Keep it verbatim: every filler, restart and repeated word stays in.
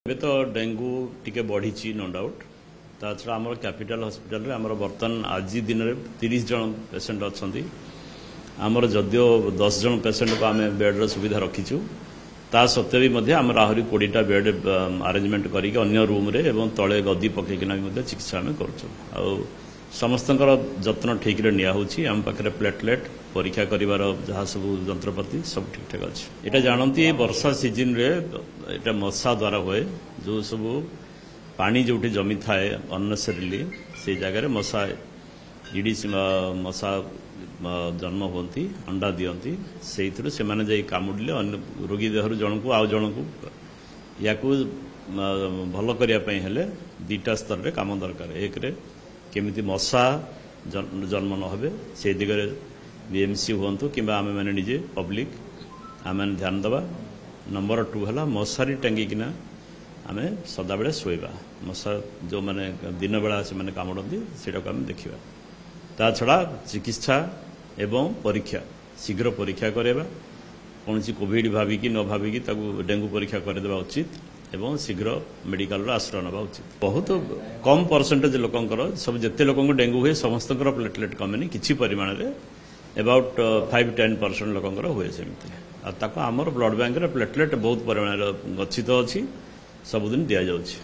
ଏବେ ତ ଡେଙ୍ଗୁ ଟିକେ ବଢ଼ିଛି, ନୋ ଡାଉଟ୍। ତା ଛଡ଼ା ଆମର କ୍ୟାପିଟାଲ ହସ୍ପିଟାଲରେ ଆମର ବର୍ତ୍ତମାନ ଆଜି ଦିନରେ ତିରିଶ ଜଣ ପେସେଣ୍ଟ ଅଛନ୍ତି। ଆମର ଯଦିଓ ଦଶ ଜଣ ପେସେଣ୍ଟକୁ ଆମେ ବେଡ୍ର ସୁବିଧା ରଖିଛୁ, ତା ସତ୍ତ୍ୱେ ବି ମଧ୍ୟ ଆମର ଆହୁରି କୋଡ଼ିଏଟା ବେଡ୍ ଆରେଞ୍ଜମେଣ୍ଟ କରିକି ଅନ୍ୟ ରୁମ୍ରେ ଏବଂ ତଳେ ଗଦି ପକେଇକିନା ବି ମଧ୍ୟ ଚିକିତ୍ସା ଆମେ କରୁଛୁ। ଆଉ ସମସ୍ତଙ୍କର ଯତ୍ନ ଠିକ୍ରେ ନିଆହେଉଛି। ଆମ ପାଖରେ ପ୍ଲେଟଲେଟ୍ ପରୀକ୍ଷା କରିବାର ଯାହା ସବୁ ଯନ୍ତ୍ରପାତି ସବୁ ଠିକ୍ଠାକ୍ ଅଛି। ଏଇଟା ଜାଣନ୍ତି, ବର୍ଷା ସିଜିନ୍ରେ ଏଇଟା ମଶା ଦ୍ୱାରା ହୁଏ। ଯେଉଁ ସବୁ ପାଣି ଯେଉଁଠି ଜମିଥାଏ ଅନ୍ନେସେରିଲି, ସେଇ ଜାଗାରେ ମଶା, ଇଡ଼ିସ୍ ମଶା ଜନ୍ମ ହୁଅନ୍ତି, ଅଣ୍ଡା ଦିଅନ୍ତି। ସେଇଥିରୁ ସେମାନେ ଯାଇ କାମୁଡ଼ିଲେ ଅନ୍ୟ ରୋଗୀ ଦେହରୁ ଜଣକୁ ଆଉ ଜଣକୁ। ୟାକୁ ଭଲ କରିବା ପାଇଁ ହେଲେ ଦୁଇଟା ସ୍ତରରେ କାମ ଦରକାର। ଏକରେ କେମିତି ମଶା ଜନ୍ମ ନ ହେବେ, ସେଇ ଦିଗରେ ବିଏମ୍ସି ହୁଅନ୍ତୁ କିମ୍ବା ଆମେମାନେ ନିଜେ ପବ୍ଲିକ ଆମେମାନେ ଧ୍ୟାନ ଦେବା। ନମ୍ବର ଟୁ ହେଲା ମଶାରୀ ଟାଙ୍ଗିକିନା ଆମେ ସଦାବେଳେ ଶୋଇବା। ମଶା ଯେଉଁମାନେ ଦିନବେଳା ସେମାନେ କାମୁଡ଼ନ୍ତି, ସେଇଟାକୁ ଆମେ ଦେଖିବା। ତା ଛଡ଼ା ଚିକିତ୍ସା ଏବଂ ପରୀକ୍ଷା, ଶୀଘ୍ର ପରୀକ୍ଷା କରାଇବା। କୌଣସି କୋଭିଡ ଭାବିକି ନ ଭାବିକି ତାକୁ ଡେଙ୍ଗୁ ପରୀକ୍ଷା କରିଦେବା ଉଚିତ ଏବଂ ଶୀଘ୍ର ମେଡିକାଲର ଆଶ୍ରୟ ନେବା ଉଚିତ। ବହୁତ କମ୍ ପରସେଣ୍ଟେଜ ଲୋକଙ୍କର, ସବୁ ଯେତେ ଲୋକଙ୍କୁ ଡେଙ୍ଗୁ ହୁଏ ସମସ୍ତଙ୍କର ପ୍ଲେଟଲେଟ୍ କମେନି। କିଛି ପରିମାଣରେ ଏବାଉଟ୍ ଫାଇଭ୍ ଟେନ୍ ପରସେଣ୍ଟ ଲୋକଙ୍କର ହୁଏ ସେମିତି। ଆଉ ତାକୁ ଆମର ବ୍ଲଡ୍ ବ୍ୟାଙ୍କରେ ପ୍ଲେଟଲେଟ୍ ବହୁତ ପରିମାଣରେ ଗଚ୍ଛିତ ଅଛି, ସବୁଦିନ ଦିଆଯାଉଛି।